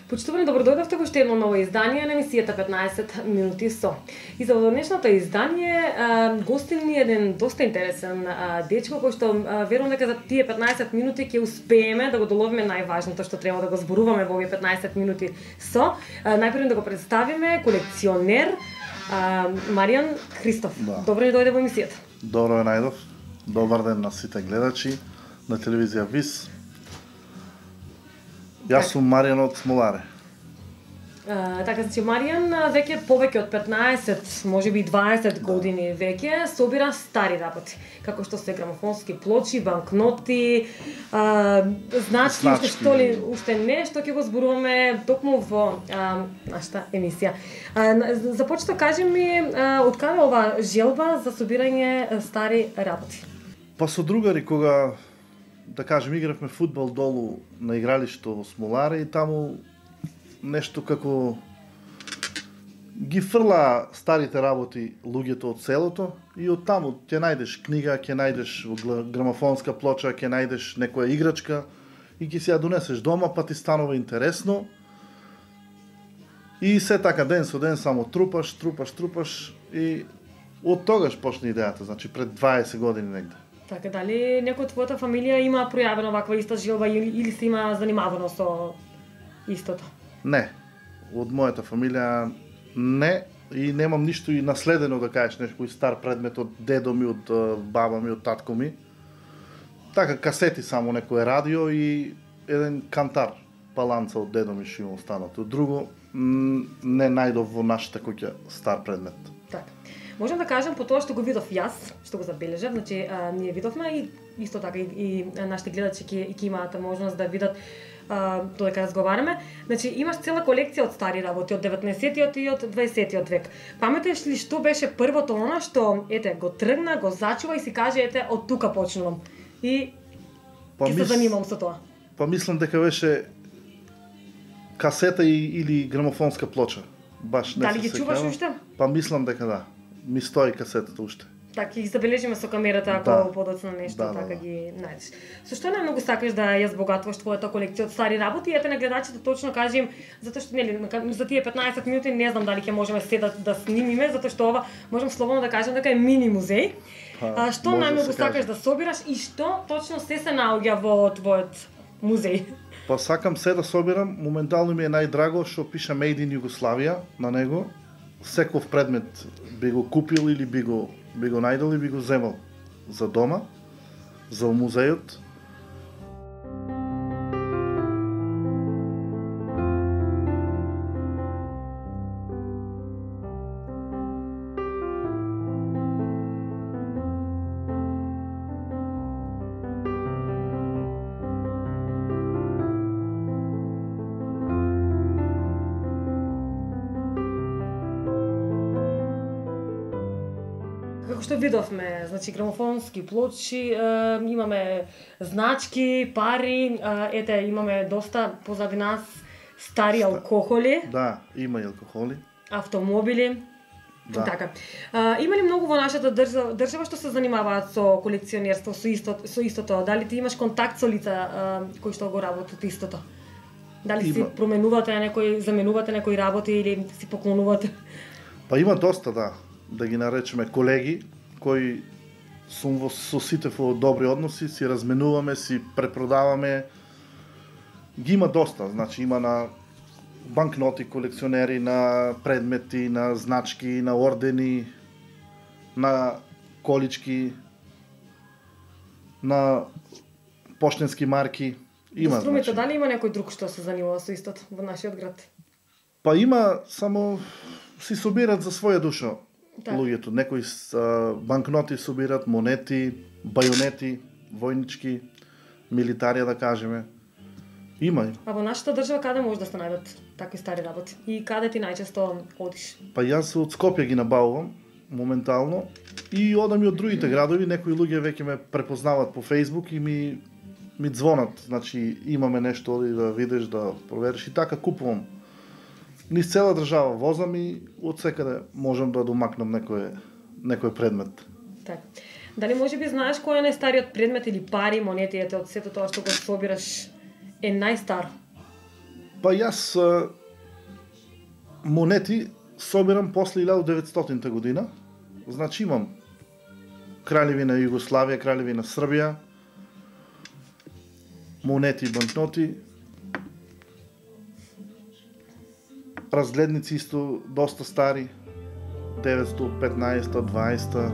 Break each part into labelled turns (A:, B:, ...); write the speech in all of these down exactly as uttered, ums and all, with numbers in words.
A: Почитувани, добродојдовте во уште едно ново издание на емисијата петнаесет минути со. И за денешното издание гостин ни еден доста интересен а, дечко кој што а, верувам дека за тие петнаесет минути ќе успееме да го доловиме најважното што треба да го зборуваме во овие петнаесет минути со. А, најпрво да го представиме колекционер а, Маријан Христов.
B: Да.
A: Добро ни дојде во емисијата.
B: Добро е најдов. Добар ден на сите гледачи на телевизија ВИС. Јас сум Маријан од Смоларе.
A: Uh, така, значи, Маријан веќе повеќе од петнаесет, можеби и дваесет години веќе собира стари работи, како што се грамофонски плочи, банкноти, uh, значки, уште што ли, уште не, што ќе го зборуваме токму во uh, нашата емисија. Uh, започнато кажи ми, uh, од каде ова желба за собирање стари работи?
B: Па со другари, кога да кажем, игравме фудбал долу на игралишто во Смоларе и таму нешто како ги фрла старите работи луѓето од селото и од таму ќе најдеш книга, ќе најдеш грамофонска плоча, ќе најдеш некоја играчка и ќе си ја донесеш дома, па ти станува интересно. И се така ден со ден само трупаш, трупаш, трупаш и од тогаш почна идејата, значи пред дваесет години негде.
A: Така, дали некој од твојата фамилија има пројавена ваква иста желба или, или се има занимавано со истото?
B: Не. Од мојата фамилија не. И немам ништо и наследено да кажеш некој стар предмет од дедо ми, од баба ми, од татко ми. Така, касети само, некој радио и еден кантар, паланца од дедо ми што има останато. Друго, не најдов во нашата куќа стар предмет.
A: Така. Можам да кажам по тоа што го видов јас, што го забележав, значи а, ние видовме и исто така и, и нашите гледачи ќе ќе имаат можност да видат а, додека разговараме. Значи имаш цела колекција од стари работи од деветнаесеттиот и од дваесеттиот век. Паметеш ли што беше првото она што ете го тргна, го зачува и си каже ете од тука почнувам. И
B: па
A: ќе
B: мис...
A: се занимавам со тоа.
B: Па мислам дека беше касета и, или грамофонска плоча. Баш не
A: Дали ги чуваш уште?
B: Па мислам дека да. Ми стои касетата уште.
A: Така, ги забележиме со камерата ако
B: да.
A: подоцна нешто,
B: да,
A: така
B: да, да.
A: ги најдеш. Со што најмногу сакаш да ја збогатуваш твојата колекција од стари работи? Ете на гледачите точно кажи им, затоа што нели за тие петнаесет минути не знам дали ќе можеме се да, да снимиме, затоа што ова можам слободно да кажам дека е мини музеј.
B: Па,
A: а што најмногу
B: да
A: сакаш да собираш и што точно се се наоѓа во твојот музеј?
B: Па сакам се да собирам, моментално ми е најдраго што пише Made in Југославија на него. Секов предмет би го купил или би го, би го најдел и би го земал за дома, за музејот.
A: Како што видовме, значи грамофонски плочи, е, имаме значки, пари, е, ете имаме доста позади нас стари алкохоли.
B: Да, има и алкохоли.
A: Автомобили.
B: Да.
A: Така. А, има ли многу во нашата држава, држава што се занимаваат со колекционерство, со истото, со истото? Дали ти имаш контакт со лица а, кои што го работат истото? Дали
B: има.
A: си променувате некои, заменувате некои работи или си поклонувате?
B: Па има доста, да, да ги наречеме колеги, кои сум во, со сите во добри односи, си разменуваме, си препродаваме. Ги има доста, значи има на банкноти колекционери, на предмети, на значки, на ордени, на колички, на поштенски марки. Има,
A: Струмите,
B: значи.
A: дали има некој друг што се занимава со истото во нашиот град?
B: Па има, само си собират за своја душа
A: Так.
B: луѓето. Некои а, банкноти собират, монети, бајонети, војнички, милитарија да кажеме. Има.
A: А во нашата држава каде може да се најдат такви стари работи? И каде ти најчесто одиш?
B: Па јас од Скопје ги набавувам моментално и одам и од другите градови, некои луѓе веќе ме препознаваат по Facebook и ми ми звонат, значи имаме нешто оди да видиш, да провериш и така купувам. Низ цела држава возам и од секаде можам да домакнам некој некој предмет.
A: Така. Дали може би знаеш кој е најстариот предмет или пари, монети, ете од сето тоа што го собираш е најстар?
B: Па јас а, монети собирам после илјада деветстотинта година. Значи имам Краљевина Југославија, Краљевина Србија, монети и банкноти, разгледници исто доста стари, деветстотини, петнаесета, дваесета.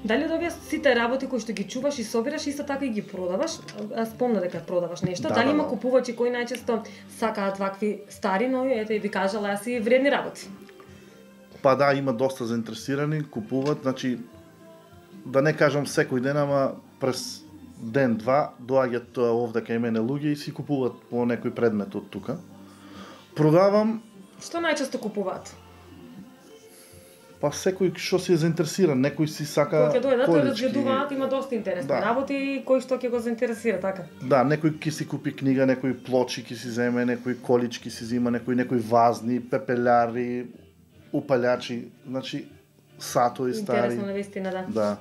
A: Дали од овие сите работи кои што ги чуваш и собираш, исто така и ги продаваш? А спомна дека продаваш нешто.
B: Да,
A: Дали
B: да,
A: има
B: да.
A: купувачи кои најчесто сакаат вакви стари, но ете и ви кажала јас и вредни работи?
B: Па да, има доста заинтересирани, купуваат, значи да не кажам секој ден, ама през ден-два доаѓаат овде кај мене луѓе и си купуваат по некој предмет од тука. Продавам,
A: Што најчесто купуваат?
B: па секој што си е заинтересиран, некој си сака
A: Кога ќе дојдат, тој
B: колички.
A: разгледуваат, има доста интересни
B: Да.
A: работи и кој што ќе го заинтересира, така.
B: Да, некој ќе си купи книга, некој плочи ќе си земе, некој колички си зима, некој некој вазни, пепеляри, упалјачи, значи сатои стари.
A: Интересно навистина, да.
B: Да.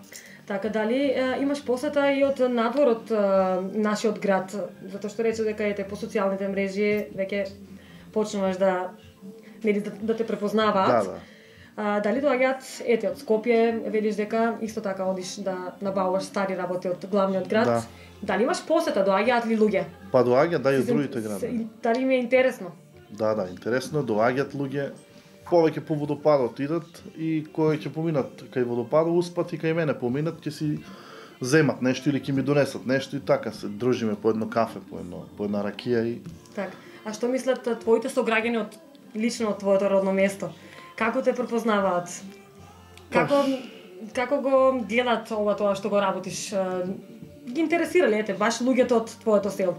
A: Така, дали е, имаш посета и од надвор од е, нашиот град, затоа што рече дека ете по социјалните мрежи веќе почнуваш да нели да, да те препознаваат.
B: Да, да.
A: А, дали доаѓаат ете од Скопје, велиш дека исто така одиш да набавуваш стари работи од главниот град.
B: Да.
A: Дали имаш посета, доаѓаат ли луѓе?
B: Па доаѓа да и од
A: Се-
B: другите
A: се-
B: градови.
A: Дали им е интересно?
B: Да, да, интересно, доаѓаат луѓе, повеќе по водопадот идат и кои ќе поминат кај водопадот, успат и кај мене поминат, ќе си земат нешто или ќе ми донесат нешто и така се дружиме по едно кафе, по едно по една ракија и
A: Така. А што мислат а, твоите сограѓани од лично од твоето родно место? Како те препознаваат? Како како го гледат ова тоа што го работиш? А, Ги интересира ли ете баш луѓето од твоето село?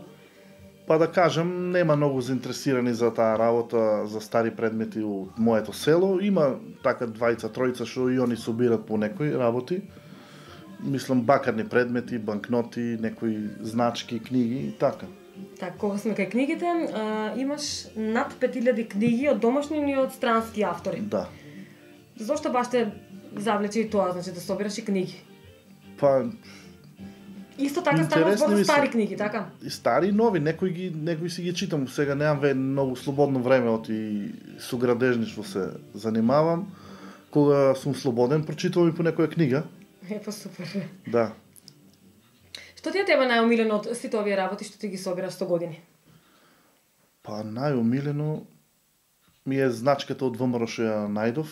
B: па да кажем, нема многу заинтересирани за таа работа за стари предмети од моето село. Има така двајца, тројца што и они собират по некои работи. Мислам бакарни предмети, банкноти, некои значки, книги и така.
A: Така, кога сме кај книгите, а, имаш над пет илјади книги од домашни и од странски автори.
B: Да.
A: Зошто баш те завлече и тоа, значи да собираш и книги?
B: Па
A: Исто така става
B: Интересни
A: збор
B: ми
A: за
B: се.
A: стари книги, така?
B: и стари и нови, некои ги некои си ги читам. Сега немам ве многу слободно време, оти со градежништво се занимавам. Кога сум слободен, прочитувам и по некоја книга.
A: Е, па супер.
B: Да.
A: Што ти е тебе најомилено од сите овие работи што ти ги собираш сто години?
B: Па најомилено ми е значката од ВМРО што ја најдов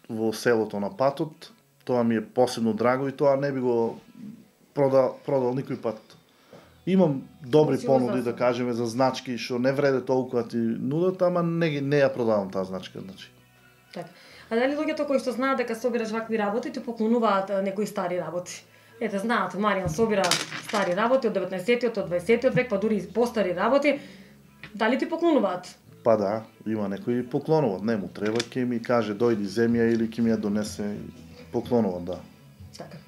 B: во селото на патот. Тоа ми е посебно драго и тоа не би го продал, продал никој пат. Имам добри
A: Си
B: понуди,
A: возрастен.
B: да кажеме, за значки што не вреде толку да ти нудат, ама не, ги- не ја продавам таа значка. Значи.
A: Така. А дали луѓето кои што знаат дека собираш вакви работи ти поклонуваат а, некои стари работи? Ете, знаат, Маријан собира стари работи од деветнаесеттиот, од дваесеттиот век, па дури и постари работи. Дали ти поклонуваат?
B: Па да, има некои поклонуват, не му треба, ќе ми каже дојди земја или ќе ми ја донесе и поклонуват, да.
A: Така.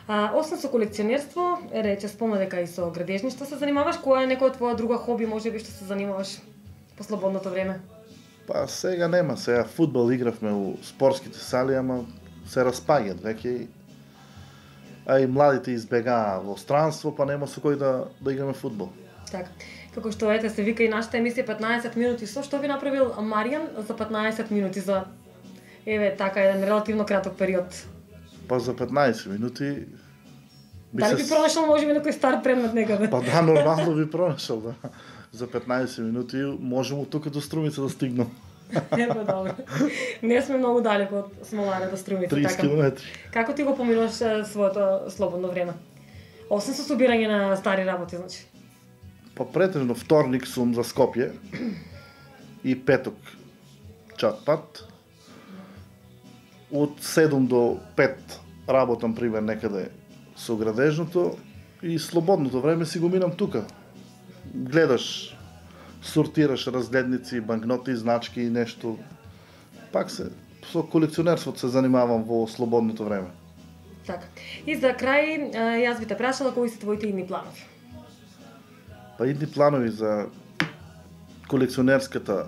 A: А, освен со колекционерство, рече спомна дека и со градежништво се занимаваш, која е некоја твоја друга хоби, можеби што се занимаваш по слободното време?
B: Па сега нема, сега фудбал игравме у спортските сали, ама се распаѓат веќе. А и младите избегаа во странство, па нема со кој да да играме фудбал.
A: Така. Како што ете се вика и нашата емисија петнаесет минути со, што би направил Маријан за петнаесет минути за еве така еден релативно краток период?
B: Па за петнаесет минути би
A: Дали
B: се...
A: би пронашал можеби некој стар предмет некаде?
B: Па да, нормално би пронашал, да. За петнаесет минути можем од тука до Струмица да стигнам.
A: Ево, добро. Не сме многу далеко од Смоларе до Струмица,
B: триесет
A: така.
B: километри.
A: Како ти го поминуваш е, своето слободно време? Освен со собирање на стари работи, значи.
B: Па претежно вторник сум за Скопје и петок чат пат. Од седум до пет работам пример некаде со градежното и слободното време си го минам тука. Гледаш, сортираш разгледници, банкноти, значки и нешто. Пак се со колекционерството се занимавам во слободното време.
A: Така. И за крај, е, јас би те прашала кои се твоите идни планови?
B: Па идни планови за колекционерската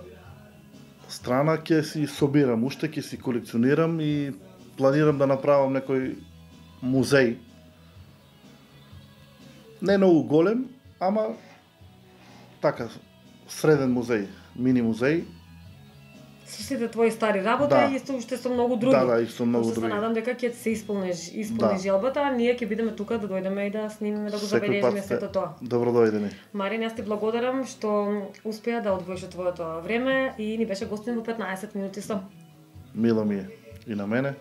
B: страна ќе си собирам, уште ќе си колекционирам и планирам да направам некој музеј. Не многу голем, ама така среден музеј, мини музеј.
A: Со сите твои стари работи
B: Да.
A: и со уште со многу други.
B: Да, да, и со многу
A: Што се
B: други.
A: надам дека ќе се исполниш, исполни
B: Да.
A: желбата, а ние ќе бидеме тука да дојдеме и да снимиме, да го
B: Секој
A: забележиме
B: пат сте
A: сето тоа.
B: добро дојдени.
A: Марин, јас ти благодарам што успеа да одвоиш од твоето време и ни беше гостин во петнаесет минути со.
B: Мило ми е и на мене.